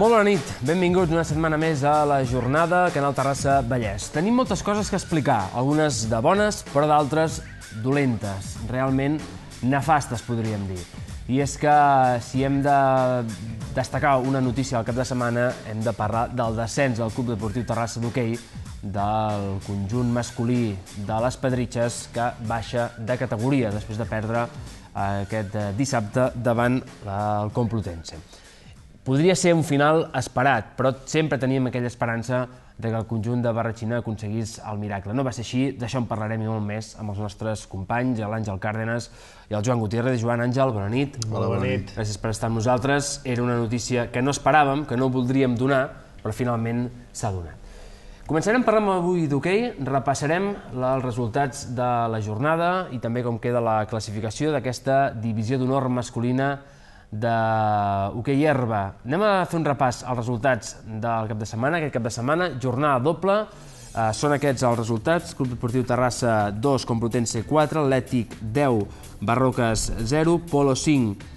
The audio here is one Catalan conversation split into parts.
Molt bona nit, benvinguts una setmana més a la jornada Canal Terrassa Vallès. Tenim moltes coses que explicar, algunes de bones, però d'altres dolentes, realment nefastes, podríem dir. I és que si hem de destacar una notícia al cap de setmana, hem de parlar del descens del Club Deportiu Terrassa d'hoquei, del conjunt masculí de les Pedritxes, que baixa de categoria després de perdre aquest dissabte davant el Complutense. Podria ser un final esperat, però sempre teníem aquella esperança que el conjunt de Barratxina aconseguís el miracle. No va ser així, d'això en parlarem i molt més amb els nostres companys, l'Àngel Cárdenas i el Joan Gutiérrez. Joan, Àngel, bona nit. Hola, bona nit. Gràcies per estar amb nosaltres. Era una notícia que no esperàvem, que no voldríem donar, però finalment s'ha donat. Començarem parlant avui d'hoquei, repassarem els resultats de la jornada i també com queda la classificació d'aquesta divisió d'honor masculina d'hoquei herba. Anem a fer un repàs als resultats del cap de setmana. Aquest cap de setmana, jornada doble. Són aquests els resultats. Club Deportiu Terrassa 2, Complutense 4, Atlètic 10, Barroques 0, Polo 5,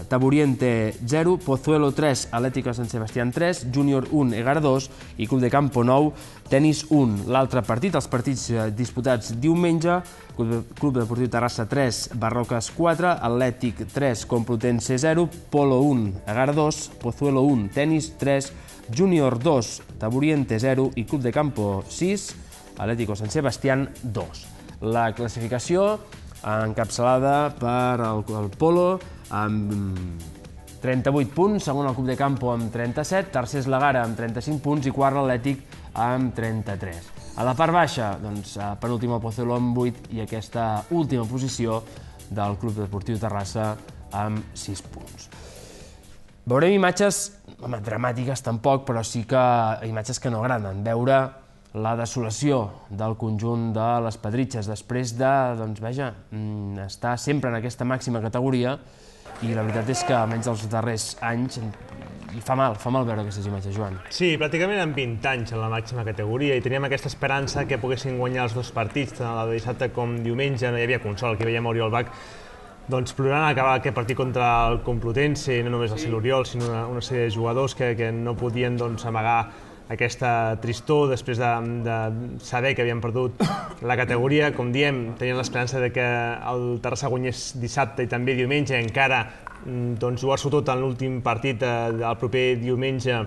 Taburiente 0, Pozuelo 3, Atlético San Sebastián 3, Júnior 1, Egar 2 i Club de Campo 9, Tenis 1. L'altre partit, els partits disputats diumenge, Club Deportiu Terrassa 3, Barroques 4, Atlètic 3, Complutense 0, Polo 1, Egar 2, Pozuelo 1, Tenis 3, Júnior 2, Taburiente 0 i Club de Campo 6, Atlético San Sebastián 2. La classificació encapçalada per el Polo amb 38 punts, segon el Club de Campo amb 37, tercer és l'Egara amb 35 punts i quart l'Atlètic amb 33. A la part baixa, penúltim el Pozuelo amb 8 i aquesta última posició del Club Deportiu Terrassa amb 6 punts. Veurem imatges, dramàtiques tampoc, però sí que imatges que no agraden. Veure la desolació del conjunt de les Pedritxes després de, estar sempre en aquesta màxima categoria i la veritat és que almenys els darrers anys fa mal veure aquestes imatges, Joan. Sí, pràcticament en 20 anys en la màxima categoria i teníem aquesta esperança que poguessin guanyar els dos partits, tant el de dissabte com diumenge. No hi havia consol, aquí veiem Oriol Bach plorant a acabar aquest partit contra el Complutense, i no només el l'Oriol, sinó una sèrie de jugadors que no podien amagar aquesta tristor després de saber que havien perdut la categoria. Com diem, tenien l'esperança que el Terrassa guanyés dissabte i també diumenge, encara jugar-s'ho tot en l'últim partit del proper diumenge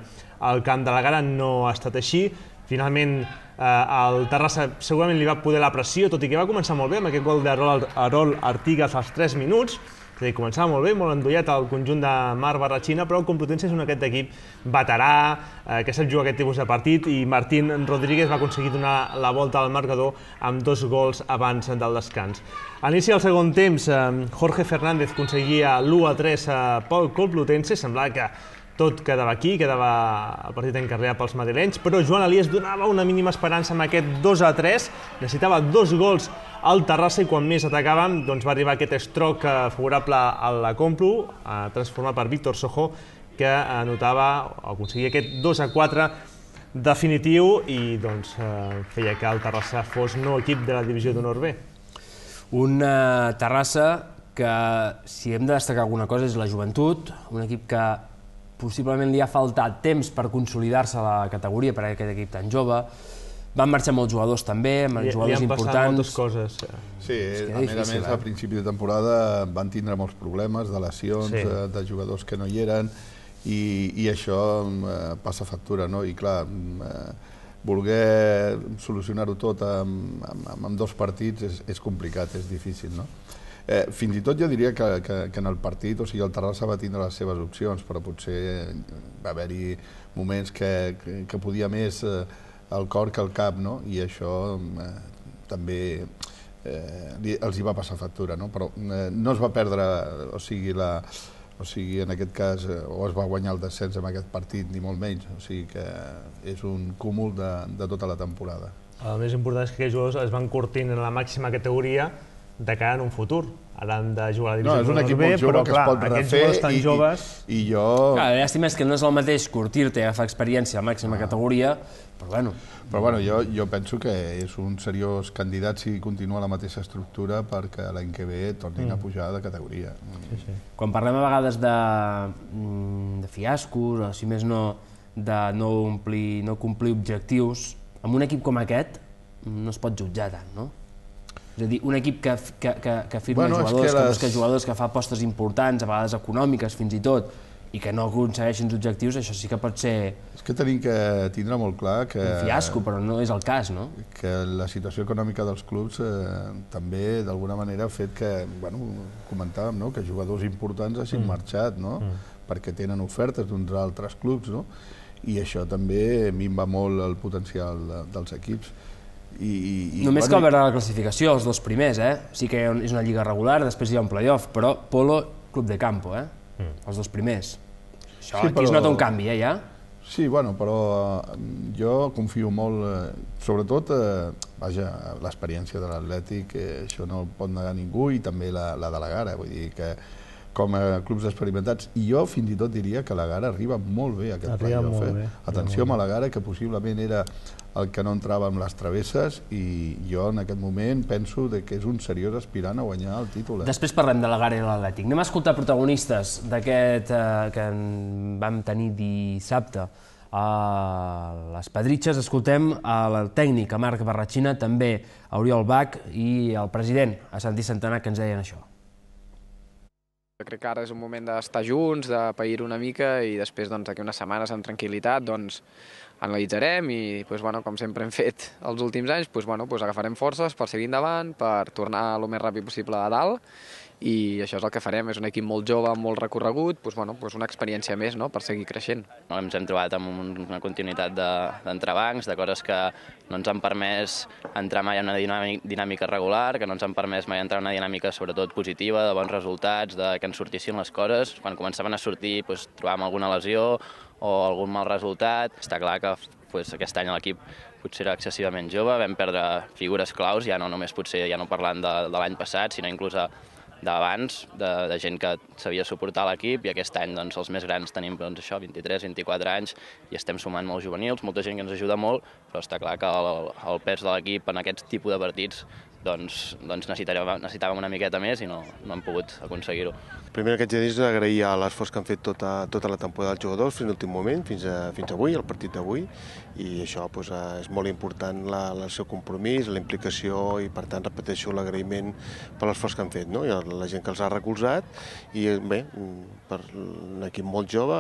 al camp de l'Egara. No ha estat així. Finalment, el Terrassa segurament li va poder la pressió, tot i que va començar molt bé amb aquest gol d'Arol Artigas als 3 minuts. És a dir, començava molt bé, molt endollat el conjunt de Marc Barratxina, però el Complutense és un aquest equip veterà, que sap jugar aquest tipus de partit, i Martín Rodríguez va aconseguir donar la volta al marcador amb 2 gols abans del descans. A l'inici del segon temps, Jorge Fernández aconseguia l'1-3 pel Complutense, semblava que tot quedava aquí, quedava el partit encarregat pels madrilenys, però Joan Elias donava una mínima esperança amb aquest 2-3, necessitava 2 gols al Terrassa i quan més atacàvem va arribar aquest estroc favorable a la Complu, transformat per Víctor Sojo, que aconseguia aquest 2-4 definitiu i feia que el Terrassa fos nou equip de la divisió d'honor B. Una Terrassa que, si hem de destacar alguna cosa, és la joventut, un equip que possiblement li ha faltat temps per consolidar-se a la categoria per aquest equip tan jove. Van marxar molts jugadors també, jugadors importants. Li han passat moltes coses. Sí, a més, a principi de temporada van tindre molts problemes de lesions, de jugadors que no hi eren, i això passa factura, no? I clar, voler solucionar-ho tot amb 2 partits és complicat, és difícil, no? Fins i tot jo diria que en el partit, o sigui, el Terrassa va tindre les seves opcions, però potser va haver-hi moments que podia més el cor que el cap, no? I això també els hi va passar factura, no? Però no es va perdre, o sigui, en aquest cas, o es va guanyar el descens en aquest partit, ni molt menys, o sigui que és un cúmul de tota la temporada. El més important és que aquests jugadors es van curtint en la màxima categoria de cara en un futur, ara han de jugar a la No, divisió és un equip B, molt jove però que es clar, pot aquests refer jugadors tan joves... i jo... Clar, llàstima és que no és el mateix curtir-te i agafar experiència a màxima categoria, però bueno. Però bueno, jo penso que és un seriós candidat si continua la mateixa estructura perquè l'any que ve tornin a pujar de categoria. Quan parlem a vegades de fiascos, o si més no, de no complir objectius, amb un equip com aquest no es pot jutjar tant, no? És a dir, un equip que firma jugadors, que jugadors que fa apostes importants, a vegades econòmiques fins i tot, i que no aconsegueixen els objectius, això sí que pot ser... És que tenim que tindre molt clar que... Un fiasco, però no és el cas, no? Que la situació econòmica dels clubs també, d'alguna manera, ha fet que, bueno, comentàvem, no?, que jugadors importants hagin marxat, no?, perquè tenen ofertes d'uns altres clubs, no?, i això també minva molt el potencial dels equips. Només cal veure la classificació, els dos primers, sí que és una lliga regular, després hi ha un playoff, però Polo, Club de Campo, els dos primers. Això aquí es nota un canvi, ja? Sí, bueno, però jo confio molt, sobretot, vaja, l'experiència de l'Atlètic, això no el pot negar ningú, i també la de la Gara, vull dir que com a clubs experimentats, i jo fins i tot diria que la Gara arriba molt bé a aquest playoff. Atenció amb la Gara, que possiblement era el que no entrava amb les travesses, i jo en aquest moment penso que és un seriós aspirant a guanyar el títol. Després parlem de la Gara i l'Atlètic. Anem a escoltar protagonistes d'aquest que vam tenir dissabte a les Pedritxes. Escoltem el tècnic, a Marc Barratxina, també a Oriol Bach i el president, a Santi Santana, que ens deien això. Crec que ara és un moment d'estar junts, de pair una mica, i després d'aquí unes setmanes amb tranquil·litat analitzarem i, com sempre hem fet els últims anys, agafarem forces per seguir endavant, per tornar el més ràpid possible a dalt, i això és el que farem. És un equip molt jove, amb molt recorregut, una experiència més per seguir creixent. Ens hem trobat amb una continuïtat d'entrebancs, de coses que no ens han permès entrar mai en una dinàmica regular, que no ens han permès mai entrar en una dinàmica sobretot positiva, de bons resultats, de que ens sortissin les coses. Quan començaven a sortir trobàvem alguna lesió o algun mal resultat. Està clar que aquest any l'equip potser era excessivament jove, vam perdre figures claus, ja no només potser ja no parlant de l'any passat, sinó inclús d'abans, de gent que sabia suportar l'equip, i aquest any els més grans tenim 23, 24 anys i estem sumant molts juvenils, molta gent que ens ajuda molt, però està clar que el pes de l'equip en aquest tipus de partits necessitàvem una miqueta més i no hem pogut aconseguir-ho. Primer que haig de dir és agrair l'esforç que han fet tota la temporada dels jugadors fins a l'últim moment, fins avui, el partit d'avui, i això és molt important, el seu compromís, la implicació, i per tant repeteixo l'agraïment per l'esforç que han fet, i la gent que els ha recolzat, i bé, per un equip molt jove,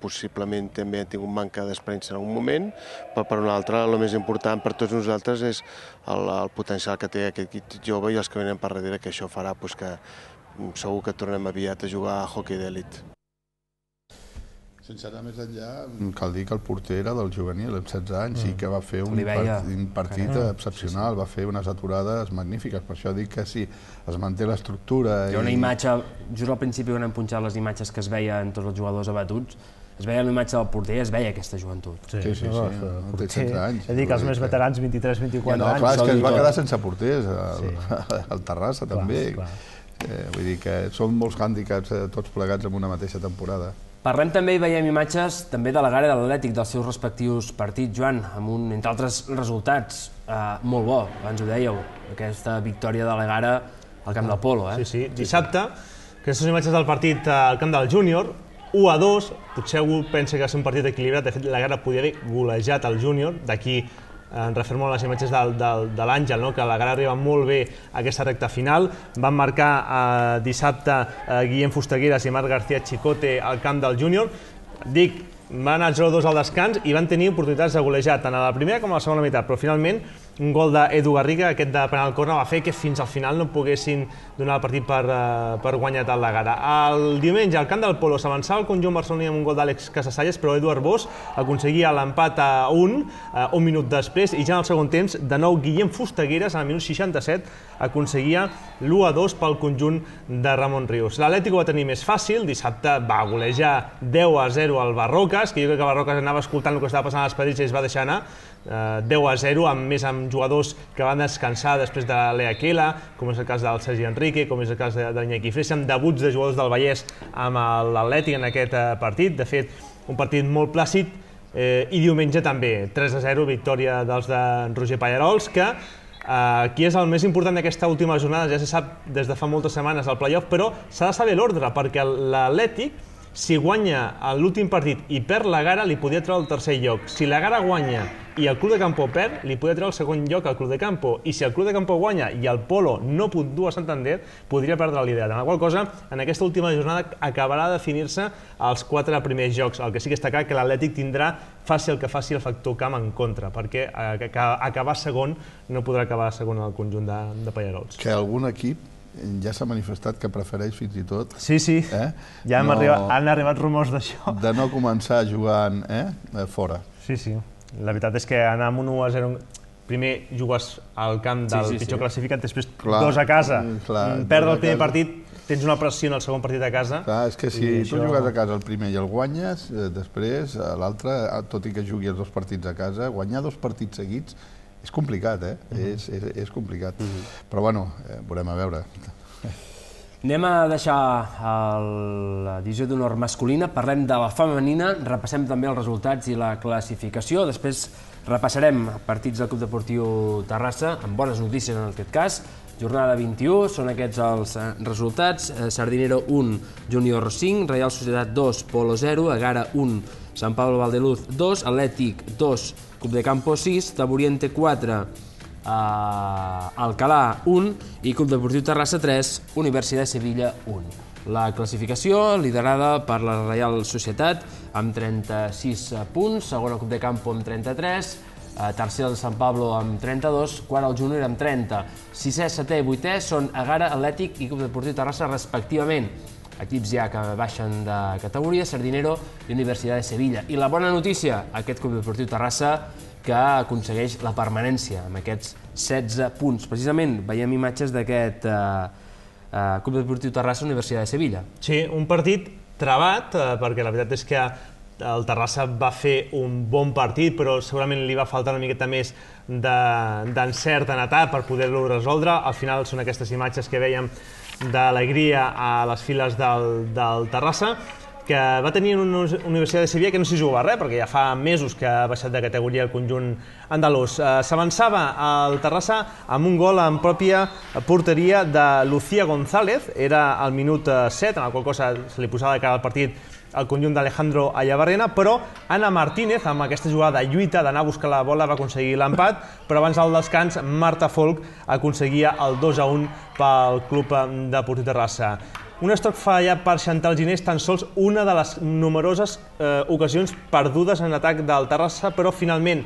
possiblement també han tingut manca d'experiència en algun moment, però per un altre el més important per tots nosaltres és el potencial que té aquest equip jove i els que venen per darrere, que això farà que segur que tornem aviat a jugar a hoquei d'elit. Sense anar més enllà, cal dir que el porter era del juvenil, amb 16 anys, i que va fer un partit excepcional, va fer unes aturades magnífiques. Per això dic que si es manté l'estructura... Hi ha una imatge, just al principi quan hem punxat les imatges que es veien tots els jugadors abatuts, es veia la imatge del porter i es veia aquesta joventut. Sí, té 16 anys. He dit que els més veterans, 23, 24 anys... Clar, és que es va quedar sense porters, al Terrassa també. Vull dir que són molts hàndicaps tots plegats en una mateixa temporada. Parlem també i veiem imatges també de la Gara i de l'Atlètic, dels seus respectius partits, Joan, amb entre altres resultats molt bo, abans ho dèieu, aquesta victòria de la Gara al camp del Polo. Sí, dissabte, aquestes imatges del partit al camp del Júnior, 1-2, potser algú pensa que va ser un partit equilibrat, de fet la Gara podia haver golejat el Júnior, d'aquí en refermo a les imatges de l'Àngel, que la Gara arriba molt bé a aquesta recta final. Van marcar dissabte Guillem Fustegueres i Marc García Chicote al camp del Júnior. Dic, van anar 0-2 al descans i van tenir oportunitats de golejar tant a la primera com a la segona meitat, però finalment un gol d'Edu Garriga, aquest de penal córner, va fer que fins al final no poguessin donar el partit per guanyat a la Gara. El diumenge, al camp del Polo, s'avançava el conjunt barceloní amb un gol d'Àlex Casasalles, però Eduard Bosch aconseguia l'empat a 1, un minut després, i ja en el segon temps, de nou Guillem Fustegueres, al minut 67, aconseguia l'1-2 pel conjunt de Ramon Rius. L'Atlètic ho va tenir més fàcil, dissabte va golejar 10-0 al Barrocas, que jo crec que Barrocas anava escoltant el que estava passant a les Pedritxes i es va deixar anar, 10-0, amb més amb amb jugadors que van descansar després de l'Eaquela, com és el cas del Sergi Enrique, com és el cas de l'Iñaki Freixas, amb debuts de jugadors del Vallès amb l'Atlètic en aquest partit. De fet, un partit molt plàcid, i diumenge també, 3-0, victòria dels de Roger Pallarols, que aquí és el més important d'aquesta última jornada, ja se sap des de fa moltes setmanes el play-off, però s'ha de saber l'ordre, perquè l'Atlètic, si guanya l'últim partit i perd la Gara, li podria treure el tercer lloc. Si la Gara guanya i el Club de Campo perd, li podria treure el segon lloc al Club de Campo. I si el Club de Campo guanya i el Polo no puntua a Santander, podria perdre el liderat. En la qual cosa, en aquesta última jornada acabarà de definir-se els 4 primers jocs. El que sí que està clar que l'Atlètic tindrà, faci el que faci, el factor camp en contra, perquè acabar segon no podrà acabar segon en el conjunt de Pallarols. Que algun equip ja s'ha manifestat que prefereix fins i tot... Sí, ja han arribat rumors d'això. De no començar jugant fora. Sí. La veritat és que anar amb un 1-0... Primer jugues al camp del pitjor classificat, després 2 a casa. Perdre el primer partit, tens una pressió en el segon partit a casa. Clar, és que si tu jugues a casa el primer i el guanyes, després l'altre, tot i que jugui els 2 partits a casa, guanyar 2 partits seguits és complicat, és complicat. Però bueno, veurem a veure. Anem a deixar la divisió d'honor masculina, parlem de la femenina, repassem també els resultats i la classificació, després repassarem partits del Club Deportiu Terrassa, amb bones notícies en aquest cas. Jornada 21, són aquests els resultats: Sardinero 1, Júnior 5, Reial Societat 2, Polo 0, Egara 1, Sant Pablo Valdeluz 2, Atlètic 2, Club de Campo 6, Taburiente 4, Alcalà 1 i Club Deportiu Terrassa 3, Universitat de Sevilla 1. La classificació liderada per la Reial Societat amb 36 punts, segona Club de Campo amb 33, tercer el Sant Pablo amb 32, quart el Júnior amb 30. Sisè, setè i vuitè són Egara, Atlètic i Club Deportiu Terrassa respectivament. Equips ja que baixen de categoria, Sardinero i Universitat de Sevilla. I la bona notícia, aquest Club Deportiu Terrassa que aconsegueix la permanència amb aquests 16 punts. Precisament veiem imatges d'aquest Club Deportiu Terrassa, Universitat de Sevilla. Sí, un partit travat, perquè la veritat és que el Terrassa va fer un bon partit, però segurament li va faltar una miqueta més d'encert en atac per poder-lo resoldre. Al final són aquestes imatges que vèiem d'alegria a les files del Terrassa, que va tenir una Universitat de Sevilla que no s'hi jugava res, perquè ja fa mesos que ha baixat de categoria el conjunt andalús. S'avançava al Terrassa amb un gol en pròpia porteria de Lucía González, era al minut 7, en la qual cosa se li posava de cara al partit el conjunt d'Alejandro Ayabarrena, però Anna Martínez, amb aquesta jugada de lluita d'anar a buscar la bola, va aconseguir l'empat, però abans del descans Marta Folk aconseguia el 2-1 pel Club Deportiu Terrassa. Un estoc fallat per Chantal Ginés, tan sols una de les numeroses ocasions perdudes en atac del Terrassa, però finalment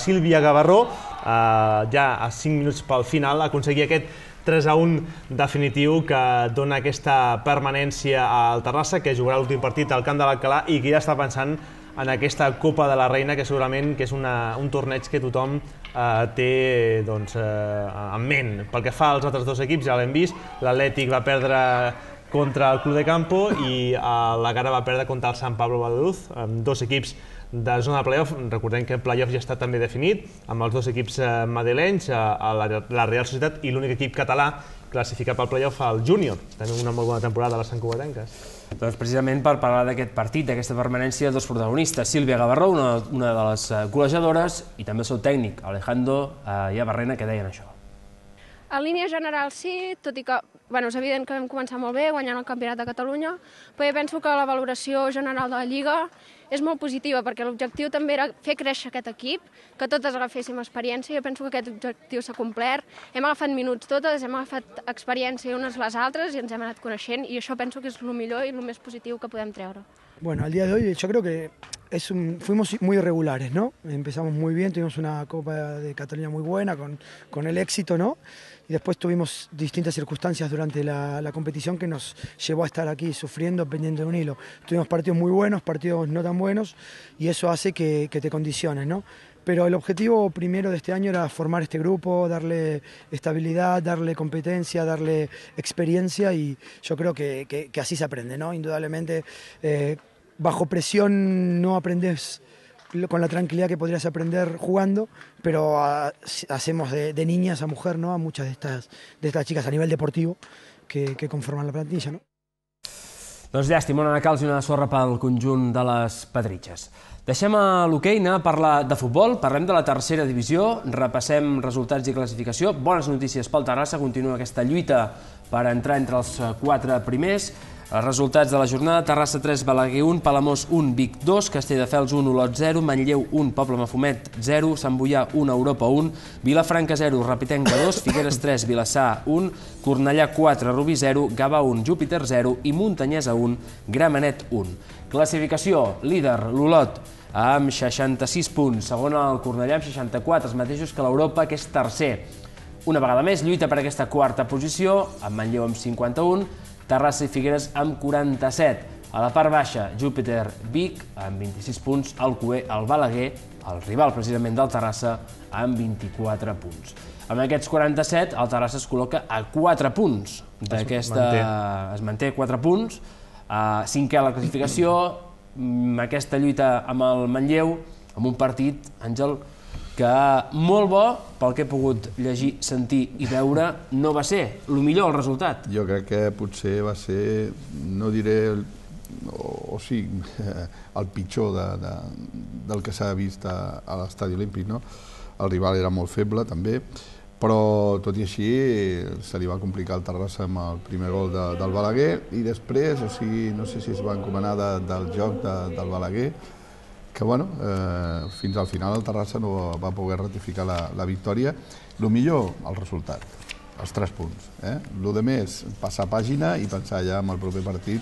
Sílvia Gavarró, ja a 5 minuts pel final, aconseguia aquest 3-1 definitiu que dona aquesta permanència al Terrassa, que jugarà l'últim partit al camp de l'Alcalà i que ja està pensant en aquesta Copa de la Reina, que segurament que és un torneig que tothom té en ment. Pel que fa als altres 2 equips, ja l'hem vist, l'Atlètic va perdre contra el Club de Campo i l'Egara va perdre contra el Sant Pablo Valdeluz, amb 2 equips de zona de playoff. Recordem que el playoff ja està també definit, amb els 2 equips madrilenys, la Real Societat, i l'únic equip català classificat pel playoff, el Júnior. Tenim una molt bona temporada a les santcugatenques. Doncs precisament per parlar d'aquest partit, d'aquesta permanència, 2 protagonistes. Sílvia Gavarró, una de les golejadores, i també el seu tècnic, Alejandro Ayabarrena, que deien això. En línia general sí, tot i que és evident que vam començar molt bé, guanyant el Campionat de Catalunya, però jo penso que la valoració general de la Lliga és molt positiva, perquè l'objectiu també era fer créixer aquest equip, que totes agaféssim experiència. Jo penso que aquest objectiu s'ha complert. Hem agafat minuts totes, hem agafat experiència unes les altres i ens hem anat coneixent, i això penso que és el millor i el més positiu que podem treure. Bueno, al día de hoy yo creo que fuimos muy irregulares, ¿no? Empezamos muy bien, tuvimos una Copa de Cataluña muy buena, con el éxito, ¿no? Y después tuvimos distintas circunstancias durante la competición que nos llevó a estar aquí sufriendo, pendiente de un hilo. Tuvimos partidos muy buenos, partidos no tan buenos, y eso hace que te condiciones, ¿no? Pero el objetivo primero de este año era formar este grupo, darle estabilidad, darle competencia, darle experiencia, y yo creo que así se aprende, ¿no? Indudablemente, bajo presión no aprendes con la tranquilidad que podrías aprender jugando, pero hacemos de niñas a mujer, ¿no? A muchas de estas chicas a nivel deportivo que conforman la plantilla, ¿no? Doncs llàstima, una calç i una sorra pel conjunt de les Pedritxes. Deixem a l'hoquei anar a parlar de futbol, parlem de la tercera divisió, repassem resultats i classificació. Bones notícies pel Terrassa, continua aquesta lluita per entrar entre els 4 primers. Els resultats de la jornada: Terrassa 3, Balaguer 1, Palamós 1, Vic 2, Castelldefels 1, Olot 0, Manlleu 1, Poble Mafumet 0, Sant Boià 1, Europa 1, Vilafranca 0, Rapitenca 2, Figueres 3, Vilassar 1, Cornellà 4, Rubí 0, Gavà 1, Júpiter 0 i Muntanyesa 1, Gramenet 1. Classificació: líder l'Olot amb 66 punts, segon el Cornellà amb 64, els mateixos que l'Europa, que és tercer. Una vegada més lluita per aquesta quarta posició, amb Manlleu amb 51, Terrassa i Figueres amb 47. A la part baixa, Júpiter, Vic, amb 26 punts, Alcover, el Balaguer, el rival precisament del Terrassa, amb 24 punts. Amb aquests 47, el Terrassa es col·loca a 4 punts d'aquesta... Es manté 4 punts, cinquè a la classificació, aquesta lluita amb el Manlleu, amb un partit, Àngel, que molt bo, pel que he pogut llegir, sentir i veure, no va ser el millor el resultat. Jo crec que potser va ser, no diré, o sí, el pitjor del que s'ha vist a l'Estadi Olímpic, no? El rival era molt feble, també, però tot i així se li va complicar el Terrassa amb el primer gol del Balaguer i després, o sigui, no sé si es va encomanar del joc del Balaguer, que bueno, fins al final el Terrassa no va poder ratificar la victòria. El millor, el resultat, els 3 punts. El més, passar pàgina i pensar ja en el proper partit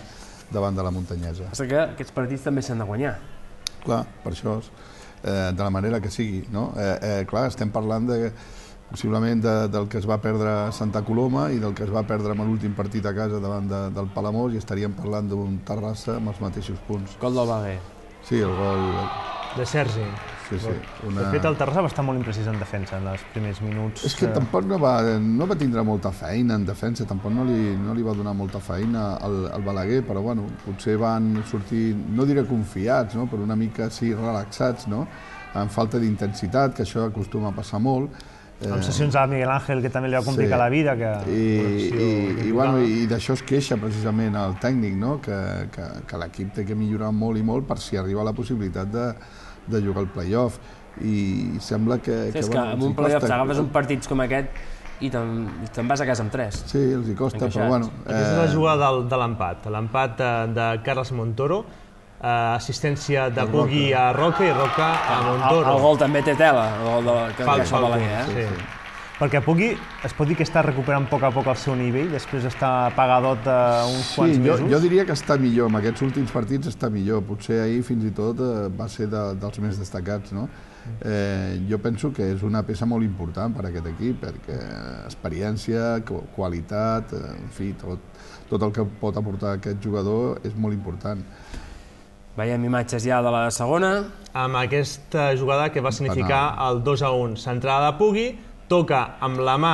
davant de la Muntanyesa. Passa que aquests partits també s'han de guanyar. Clar, per això, de la manera que sigui. Clar, estem parlant possiblement del que es va perdre a Santa Coloma i del que es va perdre en l'últim partit a casa davant del Palamós, i estaríem parlant d'un Terrassa amb els mateixos punts. Gol del Balaguer. Sí, el gol... De Sergi. Sí. De fet, el Terrassa va estar molt imprecís en defensa en els primers minuts. És que tampoc no va tindre molta feina en defensa, tampoc no li va donar molta feina al Balaguer, però bueno, potser van sortir, no diré confiats, però una mica sí relaxats, amb falta d'intensitat, que això acostuma a passar molt. Amb sessions a Miguel Ángel, que també li va complicar la vida. I d'això es queixa precisament el tècnic, que l'equip té que millorar molt i molt per si arriba la possibilitat de jugar al play-off. I sembla que... És que amb un play-off t'agafes un partit com aquest i te'n vas a casa amb 3. Sí, els hi costa, però bueno... Aquesta és la jugada de l'empat. L'empat de Carles Montoro, assistència de Pugui a Roca i Roca a Montoro. El gol també té tela, el gol que fa Balaguer. Perquè Pugui es pot dir que està recuperant a poc el seu nivell, després està pagadot uns quants mesos. Jo diria que està millor, en aquests últims partits està millor, potser ahir fins i tot va ser dels més destacats. Jo penso que és una peça molt important per a aquest equip, perquè experiència, qualitat, en fi, tot el que pot aportar aquest jugador és molt important. Veiem imatges ja de la segona. Amb aquesta jugada que va significar el 2-1. Centrada de Pugui, toca amb la mà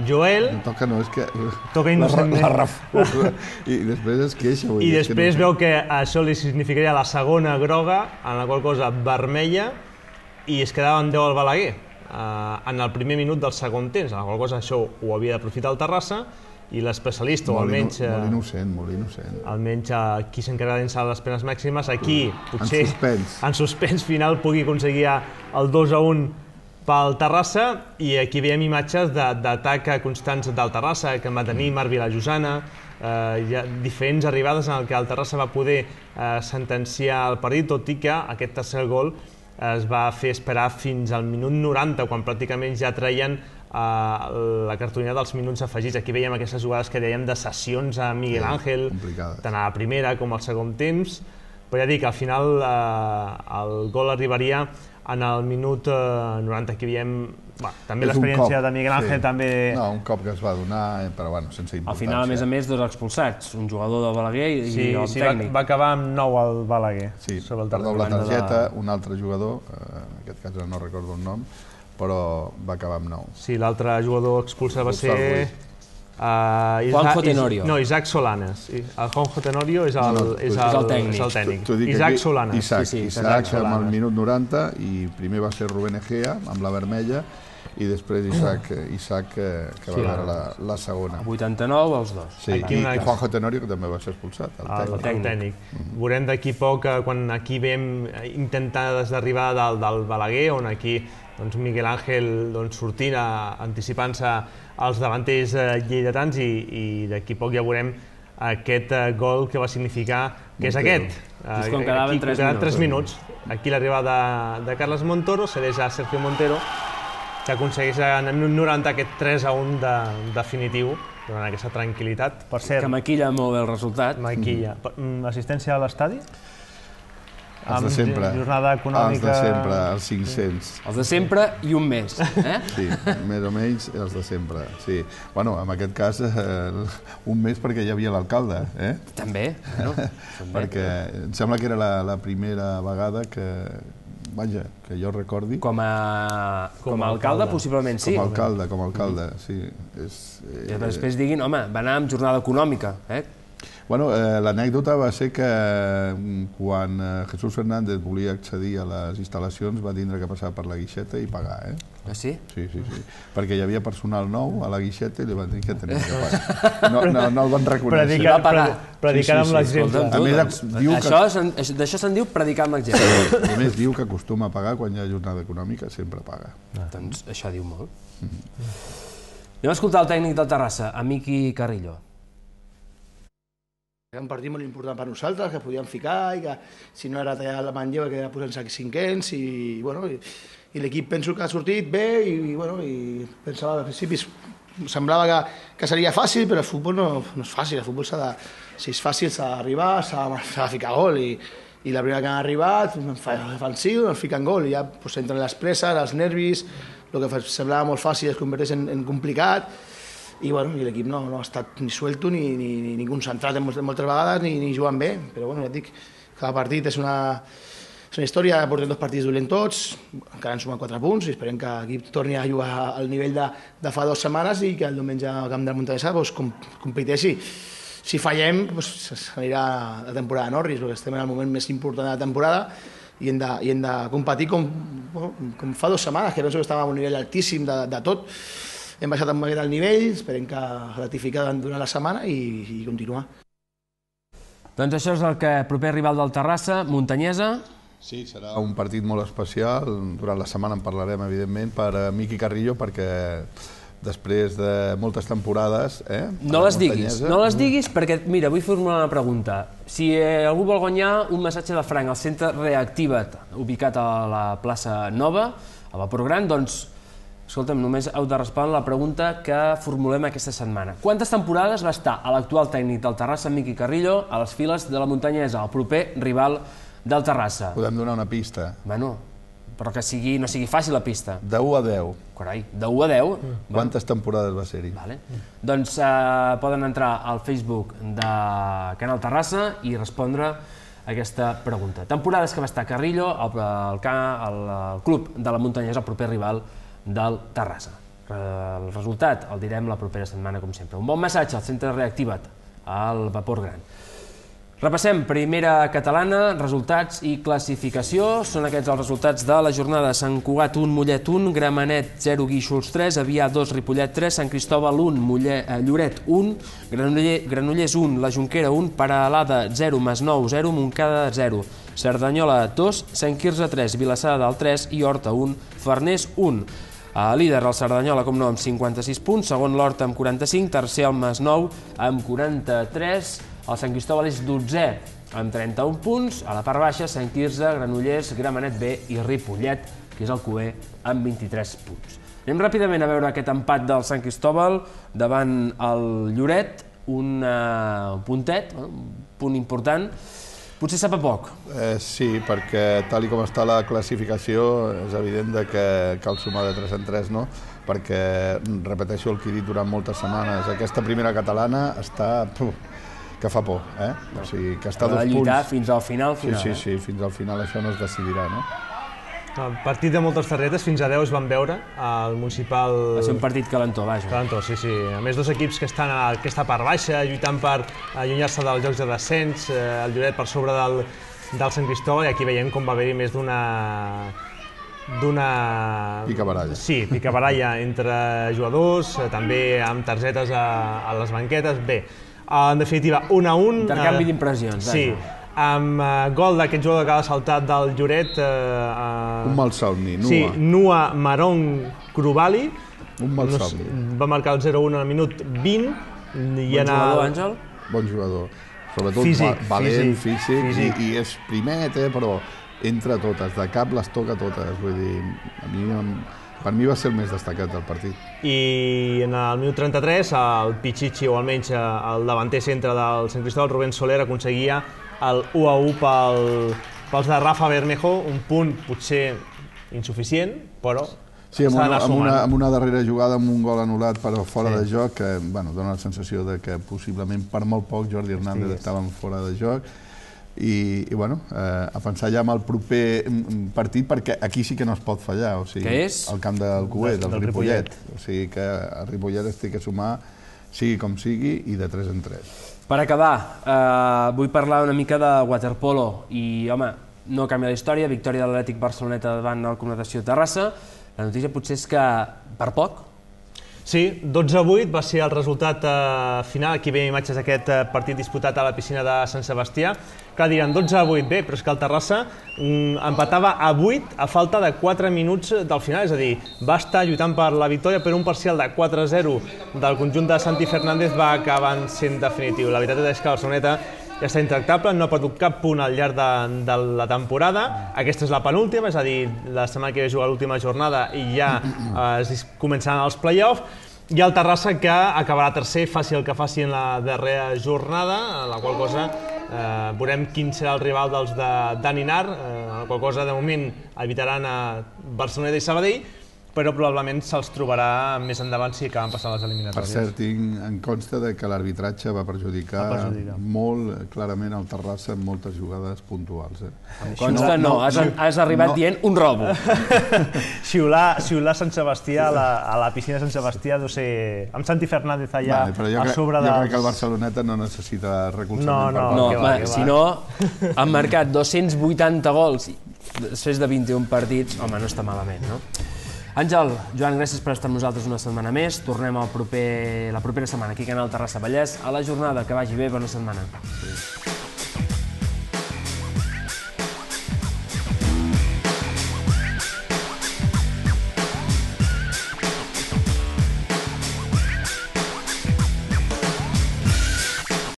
Joel... No toca, no, és que... Toca innocentment. La refusa. I després es queixa. I després veu que això li significaria la segona groga, en la qual cosa vermella, i es quedava en 10 al Balaguer en el primer minut del segon temps, en la qual cosa això ho havia d'aprofitar el Terrassa, i l'especialista, o almenys... Molt innocent. Almenys qui s'encarrega d'ençar les penes màximes, aquí, potser... En suspens final pugui aconseguir el 2-1 pel Terrassa, i aquí veiem imatges d'atac constants del Terrassa, que va tenir Marc Vilajosana, diferents arribades en què el Terrassa va poder sentenciar el partit, tot i que aquest tercer gol es va fer esperar fins al minut 90, quan pràcticament ja traien la cartolina dels minuts afegits. Aquí veiem aquestes jugades que dèiem de sessions a Miguel Ángel, tant a la primera com al segon temps, però ja dic, al final el gol arribaria en el minut 90. Aquí veiem també l'experiència de Miguel Ángel. No, un cop que es va donar, però sense importància. Al final, a més, 2 expulsats, un jugador del Balaguer i el tècnic. Sí, va acabar amb 9 el Balaguer. Sí, per doble targeta, un altre jugador, en aquest cas no recordo el nom, però va acabar amb 9. Sí, l'altre jugador expulsat va ser Juanjo Tenorio. No, Isaac Solanes. El Juanjo Tenorio és el tècnic. Isaac Solanes. Isaac amb el minut 90 i primer va ser Rubén Egea amb la vermella i després Isaac que va veure la segona. 89 els dos. Sí, i Juanjo Tenorio que també va ser expulsat, el tècnic. Veurem d'aquí poc, quan aquí vam intentar d'arribar del Balaguer, on aquí Miguel Ángel sortint, anticipant-se als davanters lleidatans i d'aquí poc ja veurem aquest gol que va significar, que és aquest. Just quan quedaven 3 minuts. Aquí l'arribada de Carles Montoro, cedeix a Sergio Montero, que aconsegueix en el minut 90 aquest 3-1 definitiu, donant aquesta tranquil·litat. Per cert, que maquilla molt bé el resultat. Maquilla. Assistència a l'estadi? Els de sempre. Jornada econòmica... Els de sempre, els 500. Els de sempre i un mes. Sí, més o menys els de sempre. Sí. Bueno, en aquest cas, un mes perquè hi havia l'alcalde. També. Perquè em sembla que era la primera vegada que... Vaja, que jo recordi... Com a alcalde, possiblement sí. Com a alcalde, sí. I després diguin, home, va anar amb jornada econòmica. Bueno, l'anècdota va ser que quan Jesús Fernández volia accedir a les instal·lacions va tindre que passar per la guixeta i pagar, Ah, sí? Sí. Perquè hi havia personal nou a la guixeta i li van dir que tenia que pagar. No el van reconèixer. Va pagar. Predicant amb l'exemple. D'això se'n diu predicar amb l'exemple. A més, diu que acostuma a pagar quan hi ha jornada econòmica, sempre paga. Doncs això diu molt. Anem a escoltar el tècnic del Terrassa, Miqui Carrillo. Era un partit molt important per nosaltres, que podíem ficar i que si no era tallar la Manlleva que era posant-se cinquens i l'equip penso que ha sortit bé i pensava al principi semblava que seria fàcil, però el futbol no és fàcil, el futbol si és fàcil s'ha d'arribar, s'ha de ficar gol i la primera que han arribat fan sil, ens fiquen gol i ja entren les presses, els nervis, el que semblava molt fàcil es converteix en complicat i l'equip no ha estat ni suelto ni concentrat moltes vegades ni jugant bé, però ja et dic, cada partit és una història, portem 2 partits dolents tots, encara han sumat 4 punts i esperem que l'equip torni a jugar al nivell de fa 2 setmanes i que el diumenge al camp de la Montanyesa competeixi. Si fallem, s'anirà la temporada a Norris, perquè estem en el moment més important de la temporada i hem de competir com fa 2 setmanes, que penso que estàvem a un nivell altíssim de tot. Hem baixat amb el nivell, esperem que ratificar durant la setmana i continuar. Doncs això és el proper rival del Terrassa, Montanyesa. Sí, serà un partit molt especial. Durant la setmana en parlarem, evidentment, per Miqui Carrillo, perquè després de moltes temporades... No les diguis, perquè, mira, vull formular una pregunta. Si algú vol guanyar un massatge de franc al centre Reactiva't, ubicat a la plaça Nova, a Vapor Gran, doncs, escolta'm, només heu de respondre la pregunta que formulem aquesta setmana. Quantes temporades va estar l'actual tècnic del Terrassa, Miqui Carrillo, a les files de la Montanyesa, el proper rival del Terrassa? Podem donar una pista. Bueno, però que no sigui fàcil la pista. De 1 a 10. Carai, de 1 a 10? Quantes temporades va ser-hi? Doncs poden entrar al Facebook de Canal Terrassa i respondre aquesta pregunta. Temporades que va estar Carrillo al club de la Montanyesa, el proper rival del Terrassa. El resultat el direm la propera setmana, com sempre. Un bon massatge al centre Reactiva't, al Vapor Gran. Repassem primera catalana, resultats i classificació. Són aquests els resultats de la jornada. Sant Cugat 1, Mollet 1, Gramenet 0, Guíxols 3, Avià 2, Ripollet 3, Sant Cristòbal 1, Lloret 1, Granollers 1, La Jonquera 1, Peralada 0, Masnou 0, Montcada 0, Cerdanyola 2, Sant Quirze 3, Vilassar de Dalt 3 i Horta 1, Farners 1. Líder el Cerdanyola, com no, amb 56 punts, segon l'Horta amb 45, tercer el Masnou amb 43, el Sant Cristòbal és 12è amb 31 punts, a la part baixa Sant Quirze, Granollers, Gramenet B i Ripollet, que és el QE, amb 23 punts. Anem ràpidament a veure aquest empat del Sant Cristòbal davant el Lloret, un puntet, un punt important. Potser sap a poc. Sí, perquè tal com està la classificació és evident que cal sumar de 3 en 3, no? Perquè, repeteixo el que he dit durant moltes setmanes, aquesta primera catalana està... que fa por, O sigui, que està a 2 punts... Ha de lluitar fins al final. Sí, fins al final això no es decidirà, no? El partit de moltes targetes, fins a 10 es van veure al municipal... Va ser un partit calentó, vaja. Calentó, sí. A més, dos equips que estan a aquesta part baixa, lluitant per allunyar-se dels jocs de descens, el Lloret per sobre del Sant Cristòbal, i aquí veiem com va haver-hi més d'una picabaralla. Sí, picabaralla entre jugadors, també amb targetes a les banquetes. Bé, en definitiva, 1-1. Intercanvi d'impressions. Sí, amb gol d'aquest jugador que ha saltat del Lloret. Un malsomni, Nua. Sí, Nua Marong Krubali. Un malsomni. Va marcar el 0-1 al minut 20. Bon jugador, Àngel? Bon jugador. Sobretot valent, físic, i és primet, però entra totes, de cap les toca totes. Vull dir, per mi va ser el més destacat del partit. I en el minut 33, el Pichichi, o almenys el davanter centre del Sant Cristòbal, Rubén Soler, aconseguia el 1-1 pels de Rafa Bermejo, un punt potser insuficient, però sí, amb una darrera jugada amb un gol anul·lat però fora de joc, que dona la sensació que possiblement per molt poc Jordi Hernández estava fora de joc. I a pensar ja en el proper partit, perquè aquí sí que no es pot fallar. Què és? El camp del Cué, del Ripollet. O sigui que el Ripollet es té que sumar, sigui com sigui, i de 3 en 3. Per acabar, vull parlar una mica de waterpolo i, home, no canvia la història, victòria de l'Atlètic Barceloneta davant el Club Natació Terrassa. La notícia potser és que per poc. Sí, 12-8 va ser el resultat final. Aquí veiem imatges d'aquest partit disputat a la piscina de Sant Sebastià. Clar, diran 12-8, bé, però és que el Terrassa empatava a 8 a falta de 4 minuts del final, és a dir, va estar lluitant per la victòria, però un parcial de 4-0 del conjunt de Santi Fernández va acabar sent definitiu. La veritat és que el Barceloneta ja està intractable, no ha perdut cap punt al llarg de la temporada. Aquesta és la penúltima, és a dir, la setmana que ve jugar l'última jornada i ja començaran els play-offs. I el Terrassa que acabarà tercer, faci el que faci en la darrera jornada, en la qual cosa veurem quin serà el rival dels de Daninar, en la qual cosa de moment evitaran a Barceloneta i Sabadell, però probablement se'ls trobarà més endavant si acaben passant les eliminatòries. Per cert, em consta que l'arbitratge va perjudicar molt clarament el Terrassa en moltes jugades puntuals. Em consta no, has arribat dient un robo. Xiular Sant Sebastià a la piscina de Sant Sebastià deu ser... amb Santi Fernández allà a sobre dels... Jo crec que el Barceloneta no necessita recolzament. No, si no, han marcat 280 gols després de 21 partits, home, no està malament, no? Àngel, Joan, gràcies per estar amb nosaltres una setmana més. Tornem la propera setmana aquí a Canal Terrassa Vallès. A la jornada, que vagi bé, bona setmana.